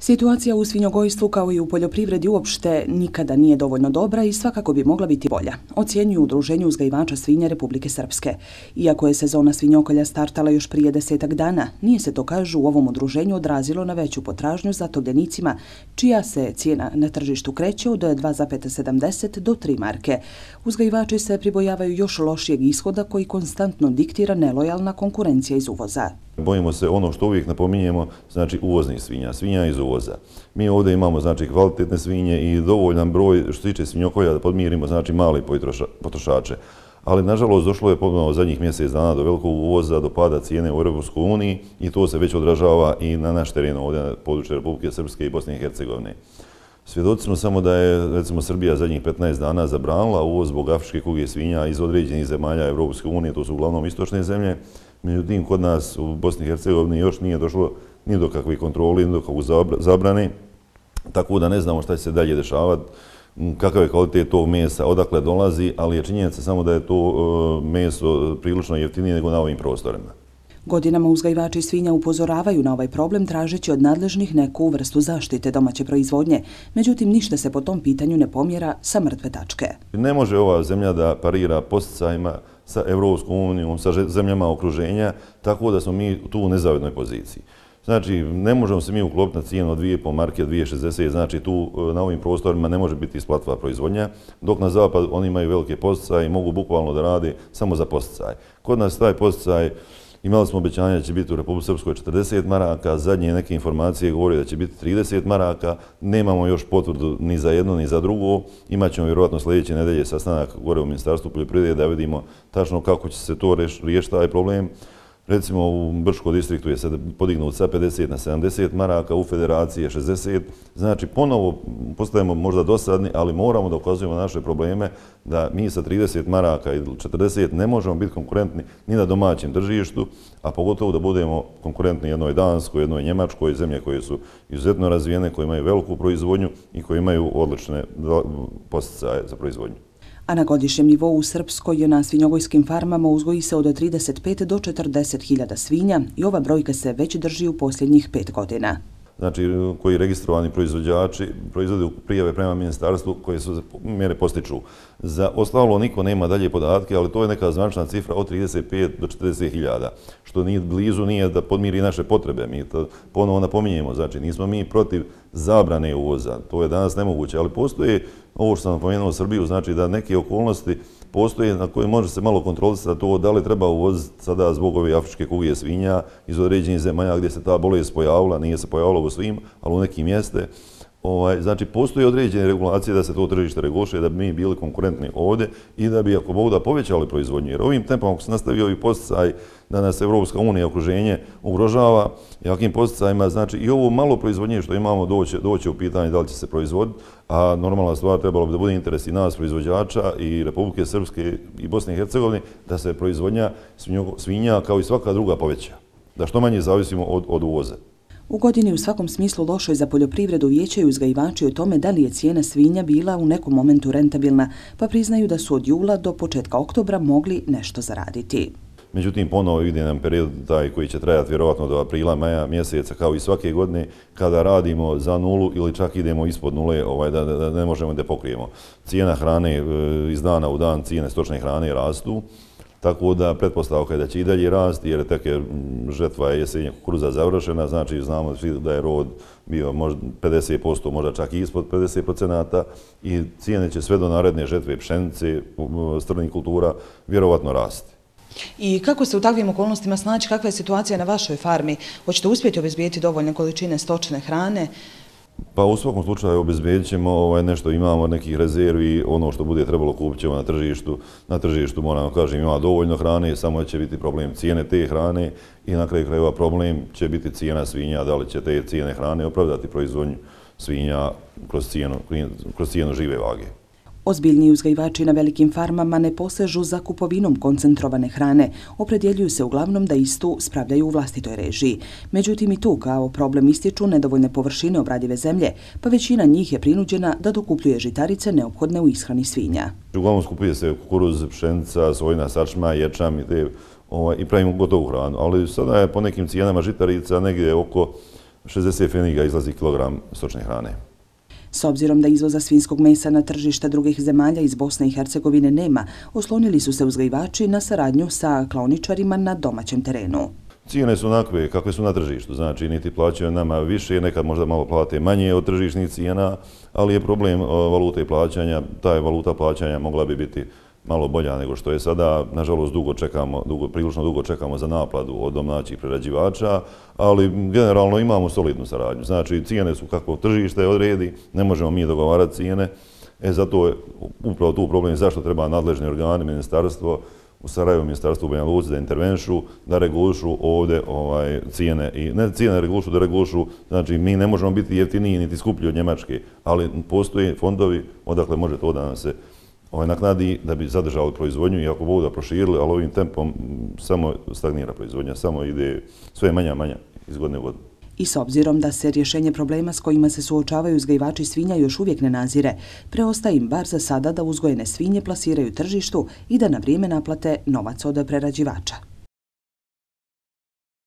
Situacija u svinjogojstvu kao i u poljoprivredi uopšte nikada nije dovoljno dobra i svakako bi mogla biti bolja, ocjenjuju Udruženju uzgajivača svinja Republike Srpske. Iako je sezona svinjokolja startala još prije 10-ak dana, nije se to, kažu, u ovom udruženju odrazilo na veću potražnju za tovljenicima, čija se cijena na tržištu kreće od 2,70 do 3 marke. Uzgajivači se pribojavaju još lošijeg ishoda koji konstantno diktira nelojalna konkurencija iz uvoza. Bojimo se ono što uvijek napominjemo, znači uvoznih svinja, svinja iz uvoza. Mi ovdje imamo znači kvalitetne svinje i dovoljan broj što se tiče svinjokolja da podmirimo znači male potrošače. Ali nažalost došlo je ponovno zadnjih mjesec dana do velikog uvoza, do pada cijene u Europskoj uniji i to se već odražava i na naš teren ovdje na području Republike Srpske i Bosne i Hercegovine. Svjedoci smo samo da je recimo Srbija zadnjih 15 dana zabranila uvoz zbog afričke kuge svinja iz određenih zemalja Europske unije, to su uglavnom istočne zemlje. Međutim, kod nas u Bosni i Hercegovini još nije došlo ni do kakvih kontroli, ni do kakvog zabrane, tako da ne znamo šta će se dalje dešavati, kakav je kvalitet tog mesa, odakle dolazi, ali je činjenica samo da je to meso prilično jeftinije nego na ovim prostorima. Godinama uzgajivači svinja upozoravaju na ovaj problem tražeći od nadležnih neku vrstu zaštite domaće proizvodnje. Međutim, ništa se po tom pitanju ne pomjera sa mrtve tačke. Ne može ova zemlja da parira podsticajima sa Europskom unijom, sa zemljama okruženja, tako da smo mi tu u nezavidnoj poziciji. Znači, ne možemo se mi uklopiti na cijenu od 2,5 marke, 2,60, znači tu na ovim prostorima ne može biti isplativa proizvodnja, dok na zapad oni imaju velike podsticaje i mogu bukvalno da rade samo za podsticaj. Kod nas taj podsticaj, imali smo obećanje da će biti u Republici Srpskoj 40 maraka, zadnje neke informacije govore da će biti 30 maraka, nemamo još potvrdu ni za jedno ni za drugo, imat ćemo vjerojatno sljedeće nedelje sastanak gore u Ministarstvu poljoprivrede da vidimo tačno kako će se to riješiti taj problem. Recimo u Brčkom distriktu je sad podignut sa 50 na 70 maraka, u Federaciji je 60. Znači ponovo postajemo možda dosadni, ali moramo da ukazujemo na naše probleme da mi sa 30 maraka ili 40 ne možemo biti konkurentni ni na domaćem tržištu, a pogotovo da budemo konkurentni jednoj Danskoj, jednoj Njemačkoj, zemlje koje su izuzetno razvijene, koje imaju veliku proizvodnju i koje imaju odlične podsticaje za proizvodnju. A na godišnjem nivou u Srpskoj na svinjogojskim farmama uzgoji se od 35 do 40 hiljada svinja i ova brojka se već drži u posljednjih 5 godina. Znači, koji registrovani proizvođači proizvode prijave prema ministarstvu koje su mjere postiču. Za ostalo niko nema dalje podatke, ali to je neka zvanična cifra od 35 do 40 hiljada, što nije blizu nije da podmiri naše potrebe. Mi to ponovo napominjemo, znači nismo mi protiv zabrane uvoza, to je danas nemoguće, ali postoje, ovo što sam napomenuo Srbiju, znači da neke okolnosti postoje na koje može se malo kontrolisati to da li treba uvoziti sada zbog ove afričke kuge svinja iz određenih zemalja gdje se ta bolest pojavila, nije se pojavila u svim, ali u nekim mjeste. Znači, postoje određene regulacije da se to tržište reguliše, da bi mi bili konkurentni ovdje i da bi, ako mogu, da povećali proizvodnju. Jer ovim tempom, ako se nastavi ovi podsticaj da nas Evropska unija okruženje ugrožava jakim podsticajima, znači i ovo malo proizvodnje što imamo doće u pitanje da li će se proizvoditi, a normalna stvar trebalo bi da bude interes i nas proizvođača i Republike Srpske i Bosne i Hercegovine da se proizvodnja svinja kao i svaka druga poveća, da što manje zavisimo od uvoza. U godini u svakom smislu lošoj za poljoprivredu vijećaju uzgajivači o tome da li je cijena svinja bila u nekom momentu rentabilna, pa priznaju da su od jula do početka oktobra mogli nešto zaraditi. Međutim, ponovo ide nam period taj koji će trajati vjerovatno do aprila, maja mjeseca, kao i svake godine, kada radimo za nulu ili čak idemo ispod nule, da ne možemo da pokrijemo. Cijena hrane iz dana u dan, cijene stočne hrane rastu, tako da pretpostavka je da će i dalje rasti, jer tek je žetva jesenja kukuruza završena, znači znamo da je rod bio možda 50%, možda čak i ispod 50% i cijene će sve do naredne žetve pšenice, strnih kultura vjerovatno rasti. I kako se u takvim okolnostima snaći, kakva je situacija na vašoj farmi? Hoćete uspjeti obezbijeti dovoljne količine stočne hrane? Pa u svakom slučaju obezbedit ćemo nešto, imamo nekih rezervi, ono što bude trebalo kupit ćemo na tržištu. Na tržištu, moram kažem, ima dovoljno hrane, samo će biti problem cijene te hrane i na kraju krajeva problem će biti cijena svinja, da li će te cijene hrane opravdati proizvodnju svinja kroz cijenu žive vage. Ozbiljni uzgajivači na velikim farmama ne posežu za kupovinom koncentrovane hrane, opredjeljuju se uglavnom da istu spravljaju u vlastitoj režiji. Međutim, i tu kao problem ističu nedovoljne površine obradive zemlje, pa većina njih je prinuđena da dokupljuje žitarice neophodne u ishrani svinja. Uglavnom skupuje se kukuruz, pšenica, sojina sačma, ječam i pravimo gotovu hranu, ali sada je po nekim cijenama žitarica negdje oko 60 pfeniga izlazi kilogram stočne hrane. S obzirom da izvoza svinjskog mesa na tržište drugih zemalja iz Bosne i Hercegovine nema, oslonili su se uzgajivači na saradnju sa klaoničarima na domaćem terenu. Cijene su onakve kakve su na tržištu, znači niti plaćaju nama više, nekad možda malo plate manje od tržišnih cijena, ali je problem valute plaćanja, ta valuta plaćanja mogla bi biti malo bolja nego što je sada. Nažalost, prilično dugo čekamo za naplatu od domaćih prerađivača, ali generalno imamo solidnu saradnju. Znači, cijene su kako tržište odredi, ne možemo mi dogovarati cijene. Zato je upravo tu problem zašto treba nadležni organi, ministarstvo, u Sarajevu, ministarstvu u Banja Luci da intervenšu, da regulišu ovdje cijene. I ne cijene regulišu, da regulišu, znači mi ne možemo biti jeftiniji niti skuplji od Njemačke, ali postoje fondovi odakle može to da nam se naknadi da bi zadržali proizvodnju i ako Bog da proširili, ali ovim tempom samo stagnira proizvodnja, samo ide sve manja iz godine u godinu. I s obzirom da se rješenje problema s kojima se suočavaju uzgajivači svinja još uvijek ne nazire, preostaje im bar za sada da uzgojene svinje plasiraju tržištu i da na vrijeme naplate novac od prerađivača.